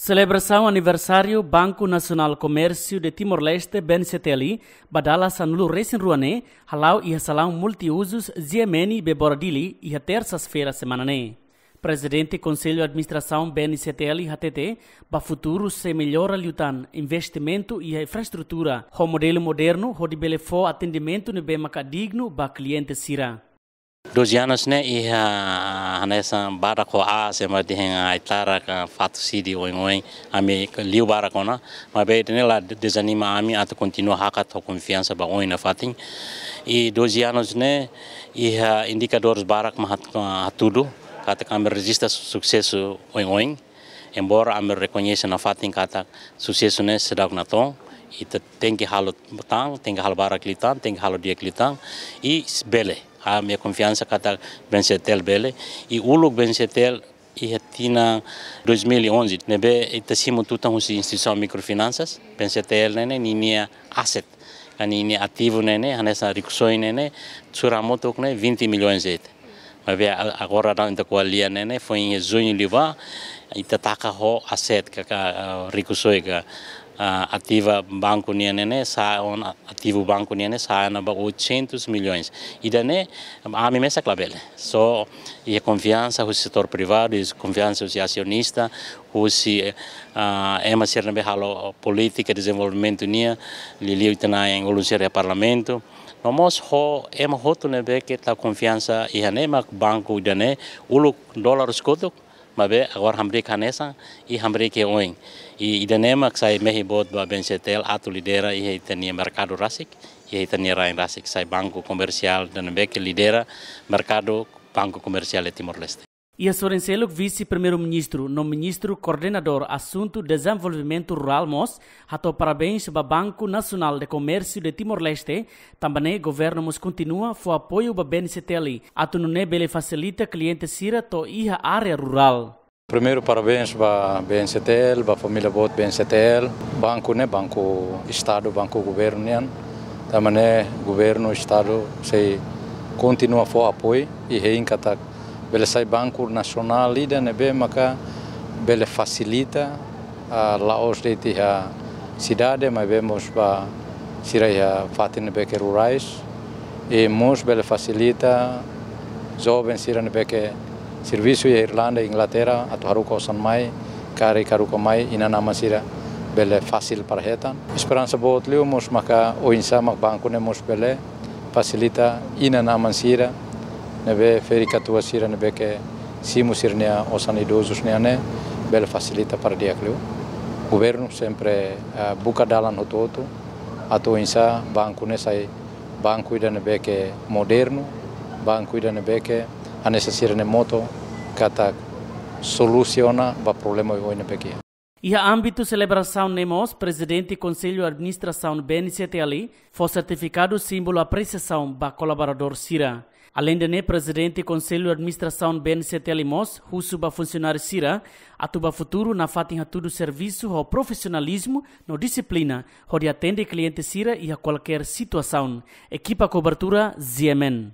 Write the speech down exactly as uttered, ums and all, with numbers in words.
Selebrasaun aniversáriu Banku Nasionál Komérsiu de Timor-Leste, B N C T L, ba dala sanulu-resin-rua ne'e hala'o iha salaun multiuzus G M N Bebora Dili iha tersa-feira semana ne'e. Prezidente Konsellu Administrasaun B N C T L hatete, ba futuru sei mellora liután investimentu iha infraestrutura ho modelu modernu hodi bele fó atendimentu ne'ebé maka dignu ba kliente sira. Doze anos ne'e iha hanesan badak ho aas, ema dehan ai-tarak, fatuk sidi oin-oin, ami liu barak ona, maibé ida-ne'e la dezanima ami atu kontinua hakat ho konfiansa ba oin nafatin. I doze anos ne'e iha indikadores barak mak hat-, hatudu katak ami rejista susesu oin-oin. Embora ami rekoñese nafatin katak susesu ne'e seidauk natoon, ita tenke halo tan, tenke halo barak liután, tenke halo di'ak liután, i s-, bele. Ami-nia konfiansa katak B N C T L bele, i uluk B N C T L iha tinan dois mil e onze, ne'ebé ita simu tutan husi instituisaun mikrofinansa, B N C T L ne'e ne'e ninia aset, ka ninia ativu ne'e ne'e, hanesan rikusoin ne'e ne'e, sura hamutuk ne'e vinte milhões de'it. Maibé a-, agora daudaun ita ko'alia ne'e ne'e, foin iha juñu liubá, ita taka ho aset ka, ka, ah, rikusoin ka, ah, ativa banku nian ne'e ne'e, sa'e ona ativu banku nian ne'e, sa'e ona ba oitocentos milhões. Ida-ne'e, ami mesak labele. Só iha konfiansa husi setór privadu, iha konfiansa husi asionista, husi, ah, ema sira ne'ebé halo polítika dezenvolvimentu nian, liuliu ita-nia ulun sira iha parlamentu. No mós ho ema hotu ne'ebé ke tau konfiansa iha ne'e mak banku ida-ne'e uluk dolar husi kotuk, maibé agora hamriik hanesan, i hamriik iha oin. I ida-ne'e mak sai mehi boot ba B N C T L atu lidera iha ita-nia merkadu rasik, iha ita-nia rain rasik, sai banku komersiál ida ne'ebé ke lidera merkadu banku komersiál iha Timor-Leste. Iha sorin seluk, Vise-Primeiru-Ministru no Ministru Koordenadór Asuntu Dezenvolvimentu Rurál mós hato'o parabéns ba Banku Nasionál de Komérsiu de Timor-Leste, tanba ne'e governu mós kontinua fó apoiu ba B N C T L atu nune'e bele fasilita kliente sira to'o iha área rurál. Primeiru, parabéns ba B N C T L, ba família boot B N C T L. Banku ne'e banku Estadu, banku governu nian. Tanba ne'e governu, Estadu sei kontinua fó apoiu, i hein katak bele sai banku nasionál ida ne'ebé maka bele fasilita, ah, la'ós de'it iha sidade, maibé mós ba sira iha fatin ne'ebé ke rurais, i mós bele fasilita joven sira ne'ebé ke servisu iha Irlanda, Inglaterra, atu haruka osan mai, karik haruka mai, inan-aman sira bele fasil para hetan. Esperansa boot liu mós maka oinsá mak banku ne'e mós bele fasilita inan-aman sira ne'ebé ferik-katuas sira ne'ebé ke simu sira-nia osan idozus nian ne'e, bele fasilita para di'ak liu. Governu sempre, eh, buka dalan hotu-hotu atu oinsá banku ne'e sai banku ida ne'ebé ke modernu, banku ida ne'ebé ke hanesan sira-nia moto katak solusiona ba problema oioin ne'ebé ke iha. Iha ámbitu selebrasaun ne'e mós, Prezidente Konsellu Administrasaun B N C T L fó sertifikadu símbolu apresiasaun ba kolaboradór sira. Aleinde ne'e, Prezidente Konsellu Administrasaun B N C T L mós husu ba funsionáriu sira atu ba futuru nafatin hatudu servisu ho profisionalizmu no dixiplina, hodi atende kliente sira iha kualkér situasaun. Ekipa kobertura, G M N.